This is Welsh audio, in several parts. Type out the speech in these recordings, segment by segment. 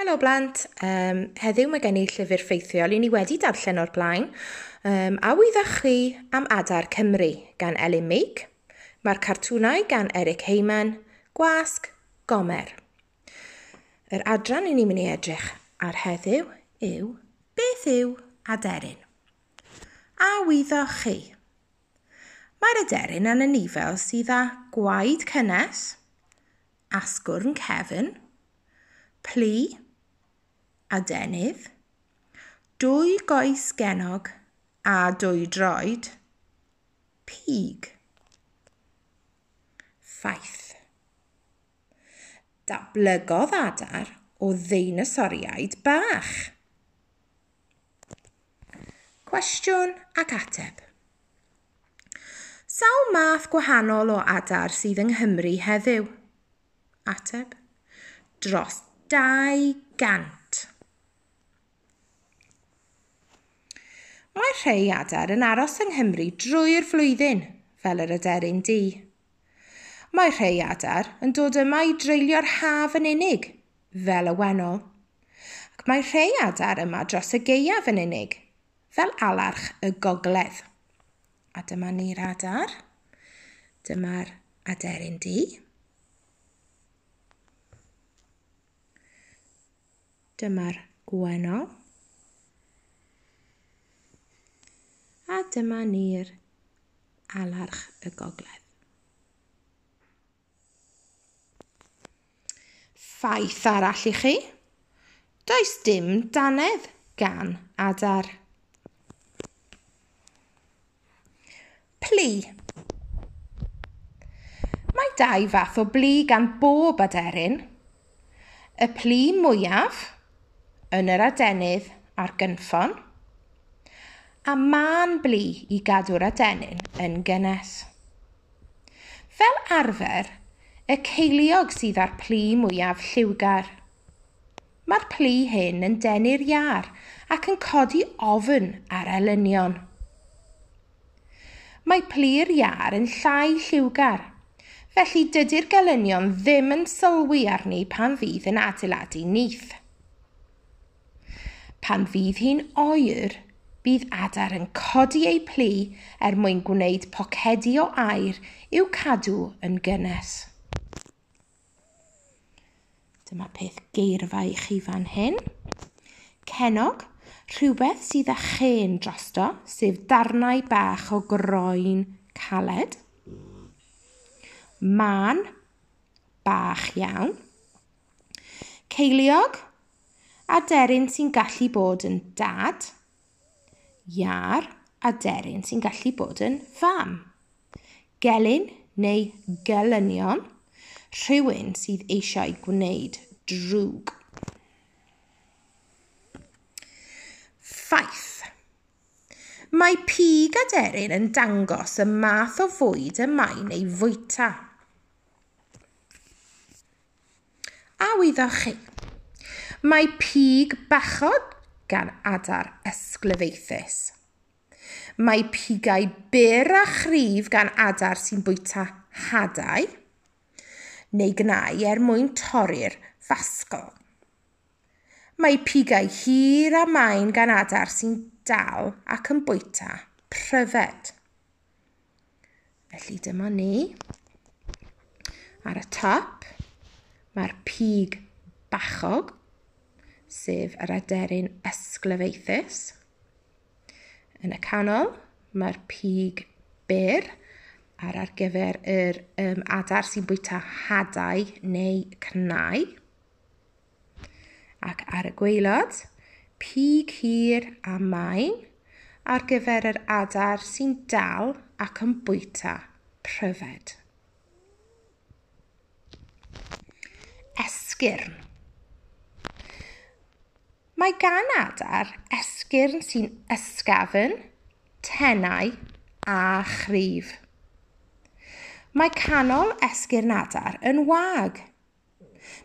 Helo blant, um, heddiw mae gen i llyfr ffeithiol i ni wedi darllen o'r blaen. Um, a wyddach chi am Adar Cymru gan Elin Meek. Mae'r cartwnau gan Eric Heyman, Gwasg, Gomer. Yr adran i ni'n mynd i edrych ar heddiw yw Beth yw aderyn? A wyddoch chi? Mae'r aderyn yn anifel sydd â gwaed cynnes, asgwrn cefn, plu, adenydd, dwy goes gennog a dwy droed, pig. Ffaith. Datblygodd adar o ddeinosoriaid bach. Cwestiwn ac ateb. Sawl math gwahanol o adar sydd yng Nghymru heddiw? Ateb. Dros 200. Mae rhai adar yn aros yng Nghymru drwy'r flwyddyn, fel yr aderyn du. Mae rhai adar yn dod yma i dreulio'r haf yn unig, fel y wennol. Ac mae rhai adar yma dros y gaeaf yn unig, fel alarch y gogledd. A dyma ni'r adar. Dyma'r aderyn du. Dyma'r gwennol. A dyma ni'r alarch y gogledd. Ffaith arall i chi. Does dim dannedd gan adar. Plu. Mae dau fath o blu gan bob aderyn. Y plu mwyaf yn yr adenydd a'r gynffon, a mân blu i gadw'r adenyn yn gynnes. Fel arfer, y ceiliog sydd â'r plu mwyaf lliwgar. Mae'r plu hyn yn denu'r iâr ac yn codi ofn ar elynion. Mae plu'r iâr yn llai lliwgar, felly dydy'r gelynion ddim yn sylwi arni pan fydd yn adeiladu nyth. Pan fydd hi'n oer, bydd adar yn codi eu plu er mwyn gwneud pocedi o aer i'w cadw yn gynnes. Dyma peth geirfa i chi fan hyn. Cennog, rhywbeth sydd â chen drosto, sef darnau bach o groen caled. Mân, bach iawn. Ceiliog, aderyn sy'n gallu bod yn dad. Iâr, aderyn sy'n gallu bod yn fam. Gelyn neu gelynion, rhywun sydd eisiau gwneud drwg. Ffaith. Mae pig aderyn yn dangos y math o fwyd y mae'n ei fwyta. A wyddoch chi? Mae pig bachog gan adar ysglyfaethus. Mae pigau byr a chryf gan adar sy'n bwyta hadau neu gnau er mwyn torri'r fasgol. Mae pigau hir a main gan adar sy'n dal ac yn bwyta pryfed. Felly dyma ni. Ar y top, mae'r pig bachog, sef yr aderyn ysglyfaethus. Yn y canol, mae'r pig byr ar gyfer yr adar sy'n bwyta hadau neu cnau. Ac ar y gwaelod, pig hir a main ar gyfer yr adar sy'n dal ac yn bwyta pryfed. Esgyrn. Mae gan adar esgyrn sy'n ysgafn, tenau a chryf. Mae canol esgyrn adar yn wag.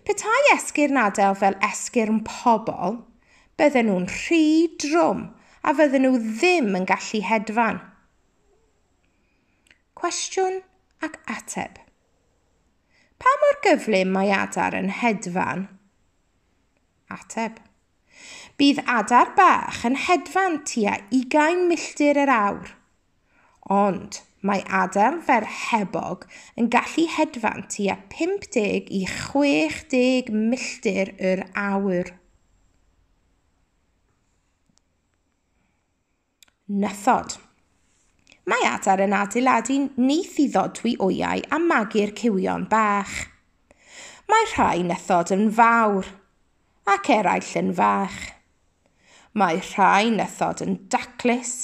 Petai esgyrn adar fel esgyrn pobl, bydden nhw'n rhy drwm a fydden nhw ddim yn gallu hedfan. Cwestiwn ac ateb. Pa mor gyflym mae adar yn hedfan? Ateb. Bydd adar bach yn hedfan tua 20 milltir yr awr. Ond mae adar fel hebog yn gallu hedfan tua 50 i 60 milltir yr awr. Nythod. Mae adar yn adeiladu nyth i ddodwy wyau a magu'r cywion bach. Mae rhai nythod yn fawr ac eraill yn fach. Mae rhai nythod yn daclus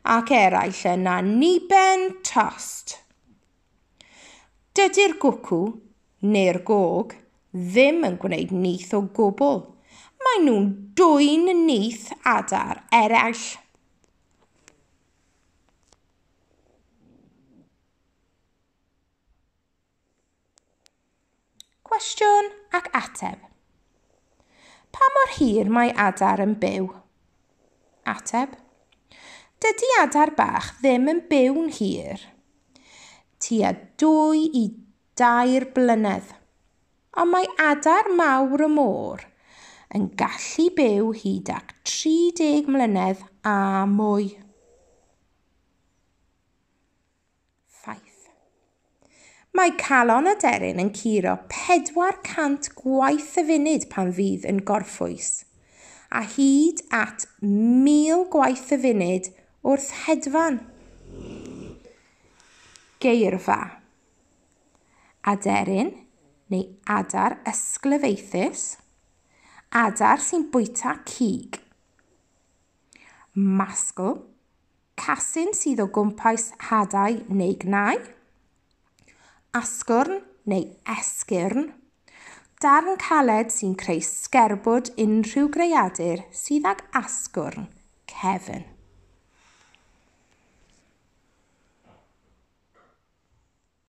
ac eraill yn anniben tost. Dydy'r gwcw neu'r gog ddim yn gwneud nyth o gwbl. Mae nhw'n dwyn nyth adar eraill. Cwestiwn ac ateb. Pa mor hir mae adar yn byw? Ateb. Dydy adar bach ddim yn byw'n hir. Tua 2 i 3 blynedd. Ond mae adar mawr y môr yn gallu byw hyd at 30 mlynedd a mwy. Ffaith. Mae calon aderyn yn curo 400 gwaith y funud pan fydd yn gorffwys, a hyd at 1000 gwaith y funud wrth hedfan. Geirfa. Aderyn neu adar ysglyfaethus, adar sy'n bwyta cig. Masgl, casyn sydd o gwmpas hadau neu gnau. Asgwrn neu esgyrn, darn caled sy'n creu sgerbwd unrhyw greadur sydd ag asgwrn cefn.